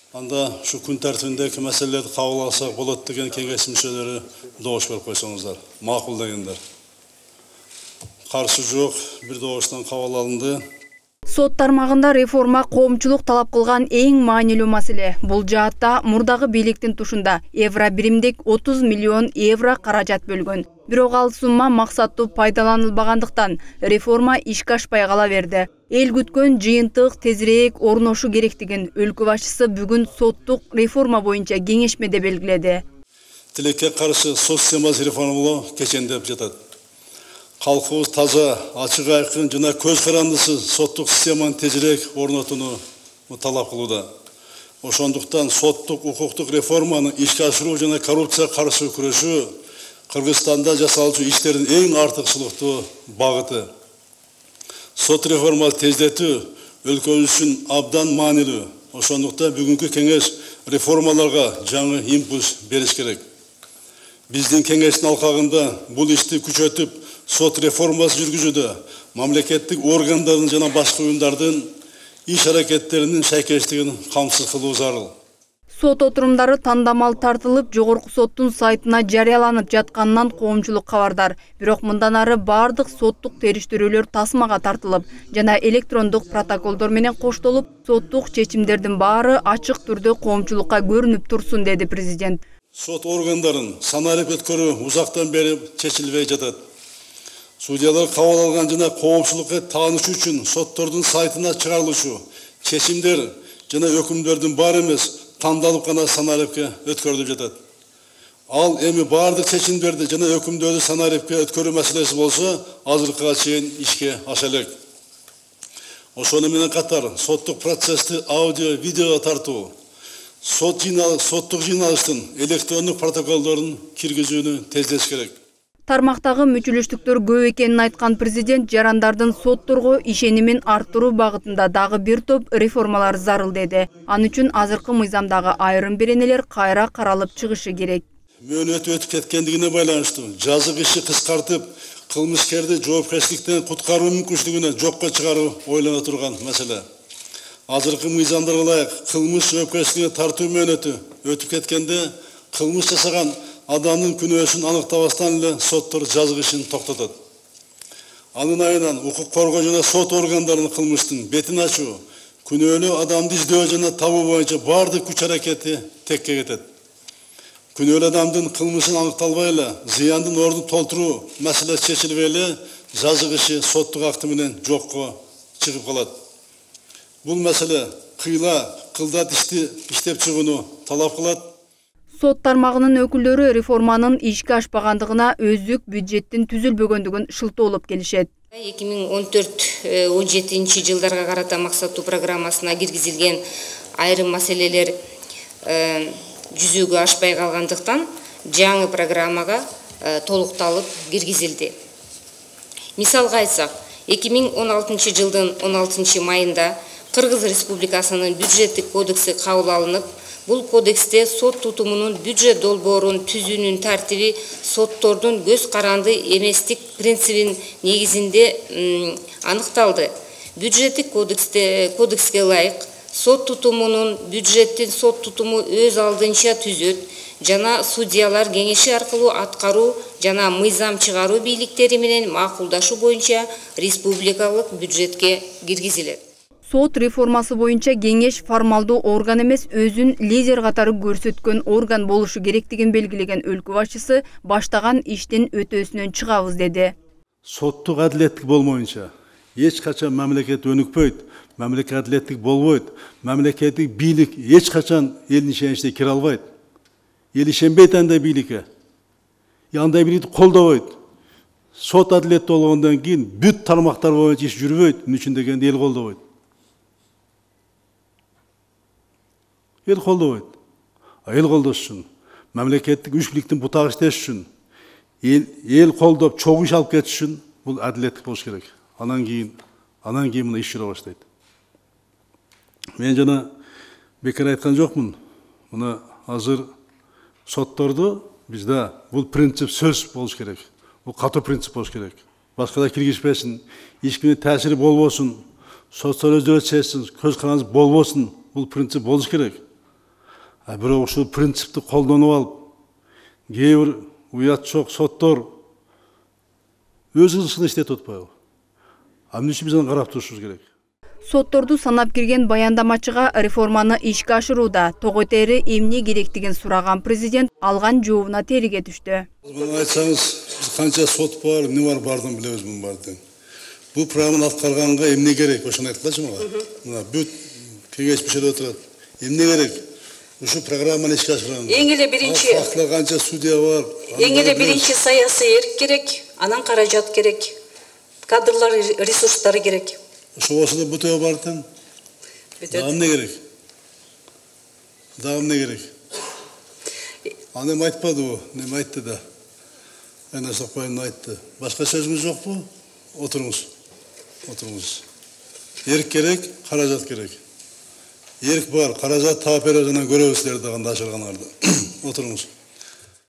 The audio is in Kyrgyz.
Анда şu күн тартибиндеги маселелерди кабыл алсак болот деген кеңеш мүчөлөрү добуш берип койсоңуздар, макул дегендер. Каршы жок, бир добуштан кабыл алынды. Сот тармагында реформа коомчулук талап кылган эң маанилүү маселе. Бул жаатта мурдагы бийликтин тушунда евро биримдик 30 миллион евро каражат бөлгөн. Бирок ал сумма максаттуу пайдаланылбагандыктан реформа ишке ашпай кала берди. Эл күткөн жыйынтык тезирээк орношу керектигин өлкө башчысы бүгүн соттук реформа боюнча кеңешмеде белгиледи. Тилекке каршы сот системасын реформалоо кечендеп жатат. Калкыбыз таза, ачык айкын жана көз карандысы соттук системаны тезирээк орнотууну талап кылууда. Ошондуктан соттук укуктук реформаны ишке ашыруу жана коррупцияга каршы күрөшүү Кыргызстанда жасалчу иштердин эң артыкчылыктуу багыты. Сот реформасы тездетүү өлкөбүз үчүн абдан маанилүү. Ошондуктан бүгүнкү кеңеш реформаларга жаңы импульс бериш керек. Биздин кеңештин алкагында бул ишти күчөтүп, сот реформасы жүргүзүүдө мамлекеттик органдардын жана башка уюмдардын иш аракеттеринин шайкештигин камсыз кылуу зарыл. Сот отурумдары тандамал тартылып, жогорку соттун сайтына жарыяланып жатканынан коомчулук кабардар. Бирок мындан ары бардык соттук териштирүүлөр тасмага тартылып, жана электрондук протоколдор менен коштолуп, соттук чечимдердин баары ачык түрдө коомчулукка көрүнүп турсун, деди президент. Сот органдарын саналып өткөрүү узактан бери чечилбей жатат. Судьялар кабыл алган жана коомчулукка таанышуу үчүн соттордун сайтына чыгарылышы, чечимдер жана өкүмдөрдүн баары эмес, тандалып гана саналипке өткөрүлүп жатат. Ал эми бардык чечимдерди жана өкүмдөрдү саналипке өткөрүү маселеси болсо, азыркыга чейин ишке аша элек. Ошону менен катар соттук процессти аудио, видео тартуу, соттук жыйналыштын электрондук протоколдорун киргизүүнү тездетиш керек. Тармактагы мүчүлүштүктөр көп экенин айткан президент жарандардын сотторго ишенимин арттыруу багытында дагы бир топ реформалар зарыл деди. Ал үчүн азыркы мыйзамдагы айрым беренелер кайра каралып чыгышы керек. Мөөнөтү өтүп кеткендигине байланыштуу жазык иши кыскартып, кылмышкерди жоопкерчиликтен куткаруу мүмкүнчүлүгүнө жокко чыгаруу ойлоно турган маселе. Азыркы мыйзамдарга ылайык кылмыш жоопкерчилигине тартуу мөөнөтү өтүп кеткенде кылмыш жасаган адамдын күнөөсүн аныктабастан эле соттор жазык ишин токтотот. Анын айынан укук коргоо жана сот органдарынын кылмыштын бетин ачуу, күнөөлүү адамды издөө жана табуу боюнча бардык күч аракети текке кетет. Күнөөлүү адамдын кылмышын аныкталбай эле зыяндын ордун толтуруу маселеси чечилбей эле жазык иши соттук акты менен жокко чыгып калат. Бул маселе кылдат ишти иштеп чыгууну талап кылат. Сот тармагынын өкүлдөрү реформанын ишке ашпагандыгына өздүк бюджеттин түзүлбөгөндүгүн шылтоолоп келишет. 2014-17 жылдарга карата максаттуу программасына киргизилген айрым маселелер жүзөгө ашпай калгандыктан жаңы программага толукталып киргизилди. Мисалга айтсак, 2016 жылдын 16 майында Кыргыз Республикасынын бюджеттик кодекси кабыл алынып, бул кодексте сот тутумунун бюджет долбоорун түзүүнүн тартиби соттордун көз каранды эместик принцибин негизинде аныкталды. Бюджеттик кодекске ылайык сот тутумунун бюджеттин сот тутуму өз алдынча түзөт жана судьялар кеңеши аркылуу аткаруу жана мыйзам чыгаруу бийликтери менен макулдашуу боюнча республикалык бюджетке киргизилет. Сот реформасы боюнча кеңеш формалдуу орган эмес, өзүн лидер катары көрсөткөн орган болушу керектигин белгилеген өлкө башчысы баштаган иштин өтөөсүнөн чыгабыз деди. Соттук адилеттик болмоюнча эч качан мамлекет өнүкпөйт, мамлекет адилеттик болбойт, мамлекеттик бийлик эч качан элдин ишеничине кире албайт. Эл ишенбейт андай бийликке. Андай бийликти колдобойт. Сот адилеттүү болгондон кийин бүт тармактар боюнча иш жүрбөйт, мун үчүн дегенде эл колдобойт. Эл колдобойт. Эл колдошсун. Мамлекеттик үч бийликтин бутак иштеш үчүн, эл колдоп чогуу иш алып кетиш үчүн бул адилеттик болуш керек. Анан кийин мына иш жүрө баштайт. Мен жана бекер айткан жокмун. Мына азыр сотторду бизде бул принцип сөз болуш керек. Бул катуу принцип болуш керек. Башкалар киргизбесин, ишкине таасири болбосун, соттор өздөрү чечсин, көз карандысы болбосун. Бул принцип болуш керек. Бирок ушул принципти колдонуп алып, кээ бир уятчок соттор өз ишин иштетип атпайбы? Эмне үчүн биз аны карап турушубуз керек? Сотторду санап кирген баяндамачыга реформаны ишке ашырууда того тери эмне керектигин сураган президент алган жообуна териге түштү. Муну айтсаңыз, биз канча сот бар, эмне бар, бардын билебиз мунун бардын. Бул программаны аткарганга эмне керек? Ошону айткылачы мага. Мына бүт кеңеш мүчөлөрү отурат. Эмне керек? Ушу программаны ишке ашырганга. Эң эле биринчи канча судья бар. Эң эле биринчи саясий эрк керек, анан каражат керек. Кадрлар ресурстары керек. Ошосу да бүтө бардын. Дагы эмне керек? Дагы эмне керек? Аны эми айтпадыбы? Неме айтты да? Айна Сокпаевна айтты. Башка сөзүңүз жокпу? Отуруңуз. Отуруңуз. Эрк керек, каражат керек. Эрк бар, каражат таап бере жана көрөбүз силерди кандай ашырганыңарды. Отуруңуз.